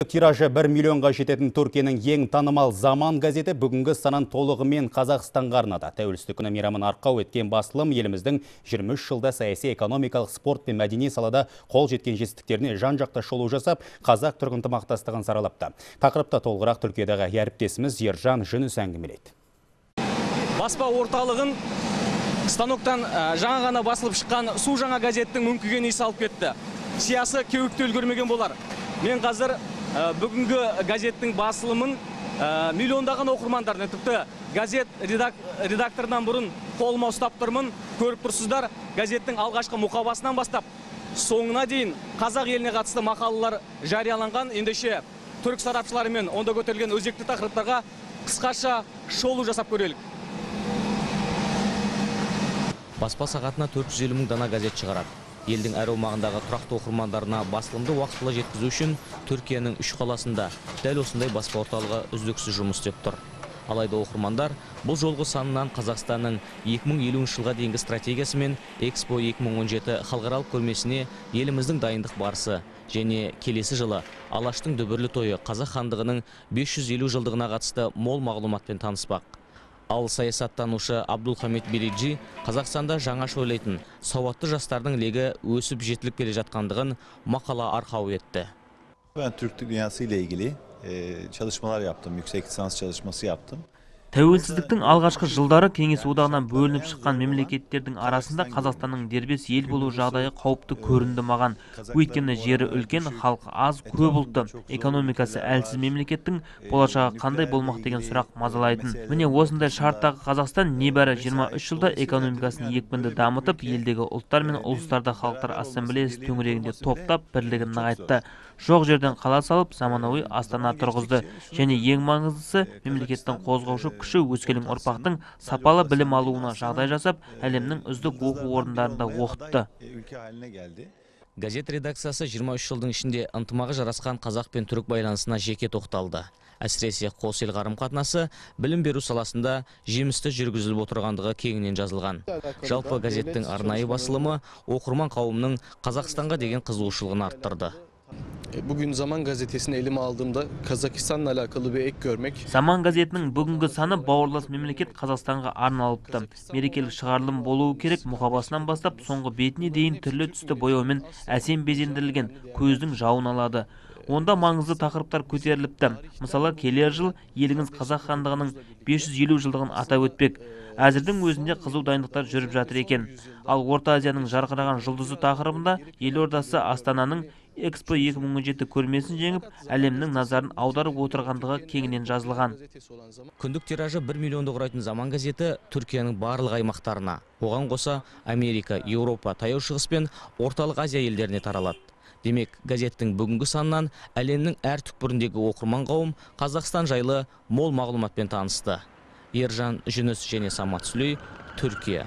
Тиражы 1 миллионға жететін Түркияның ең танымал Заман газеті бүгінгі санын толығымен Қазақстанға арнады. Тәуелсіздік күні мейрамын арқау еткен басылым еліміздің 23 жылда саяси, экономикалық, спорт пен мәдени салада қол жеткен жетістіктеріне жан-жақты шолу жасап, қазақ-түрік ынтымақтастығын саралапты. Тақырыпта толығырақ Түркиядағы әріптесіміз Ержан Жүніс әңгімелейді. Баспа орталығын станоктан жаңа ғана басылып шыққан Су жаңа газеттің мүңкіген иісі алып кетті. Сиясы кеуікті үлгермеген болар. Мен қазір бүгінгі газеттің басылымын миллиондаған оқырмандарына, тіпті газет редактордан бұрын қолыма ұстап тұрмын. Көріп тұрсыздар, газеттің алғашқы мұқабасынан бастап соңына дейін қазақ еліне қатысты мақалалар жарияланған. Ендеше түрік сарапшыларымен онда көтерілген өзекті тақырыптарға қысқаша шолу жасап көрелік. Баспа сағатына 450 мың дана газет шығарады. Елдің әр аумағындағы тұрақты оқырмандарына басылымды уақытылы жеткізу үшін Түркияның 3 қаласында дәл осындай баспа орталығы үздіксіз жұмыс істеп тұр. Алайда оқырмандар бұл жолғы санынан Қазақстанның 2050 жылға дейінгі стратегиясы мен Экспо 2017 халықаралық көрмесіне еліміздің дайындық барысы және келесі жылы Алаштың дүбірлі тойы Қазақ хандығының 550 жылдығына қатысты мол мағлұматпен таныспақ. Ал саясаттанушы Абдулхамид Бериджи Қазақстанда жаңаша ойлайтын сауатты жастардың легі өсіп жетіліп келе жатқандығын мақала арқау etті. Ben Türklük dünyası ile ilgili çalışmalar yaptım, yüksek lisans çalışması yaptım. Тәуелсіздіктің алғашқы жылдары Кеңес одағынан бөлініп шыққан мемлекеттердің арасында Қазақстанның дербес ел болу жағдайы қауіпті көрінді маған. Өйткені жері үлкен, халқы аз, көп ұлтты, экономикасы әлсіз мемлекеттің болашағы қандай болмақ деген сұрақ мазалайтын. Міне осындай шарттағы Қазақстан небәрі 23 жылда экономикасын екпінді дамытып, елдегі ұлттар мен ұлыстарды халықтар ассамблеясы төңірегінде топтап, бірлігін нығайтты. Жоқ жерден қала салып, заманауи Астана тұрғызды. Және ең маңыздысы, мемлекеттің қозғаушы күші өскелең ұрпақтың сапалы білім алуына жағдай жасап, әлемнің үздік оқу орындарында оқытты. Газет редакциясы 23 жылдың ішінде ынтымағы жарасқан қазақ пен түрік байланысына жеке тоқталды. Әсіресе қос ел қарым-қатынасы білім беру саласында жемісті жүргізіліп отырғандығы кеңінен жазылған. Жалпы газеттің арнайы басылымы оқырман қауымның Қазақстанға деген қызығушылығын арттырды. Bugün Zaman gazetesini elime aldığımda Kazakistan'la alakalı bir ek görmek. Zaman gazetінің бүгінгі саны бауырлас мемлекет Қазақстанға арналыпты. Мерекелік шығарылым болуы керек, мұқабасынан бастап соңғы бетіне дейін түрлі түсті бояумен әсем безендірілген, көздің жауын алады. Онда маңызды тақырыптар көтеріліпті. Мысалы, келер жыл еліңіз Қазақ хандығының 550 жылдығын атап өтпек. Әзірдің өзінде қызу дайындықтар жүріп жатыр екен. Ал Орта Азияның жарқыраған жұлдызы тақырыбында елордасы Астананың Экспо 2017 көрмесін жеңіп, әлемнің назарын аударып отырғандығы кеңінен жазылған. Күндік тиражы 1 миллионды құрайтын Заман газеті Түркияның барлық аймақтарына, оған қоса Америка, Еуропа, Таяу Шығыс пен Орталық Азия елдеріне таралады. Демек, газеттің бүгінгі санынан әлемнің әр түкпіріндегі оқырман қауым Қазақстан жайлы мол мағлұматпен танысты. Ержан Жүніс және Самат Сүлей, Түркия.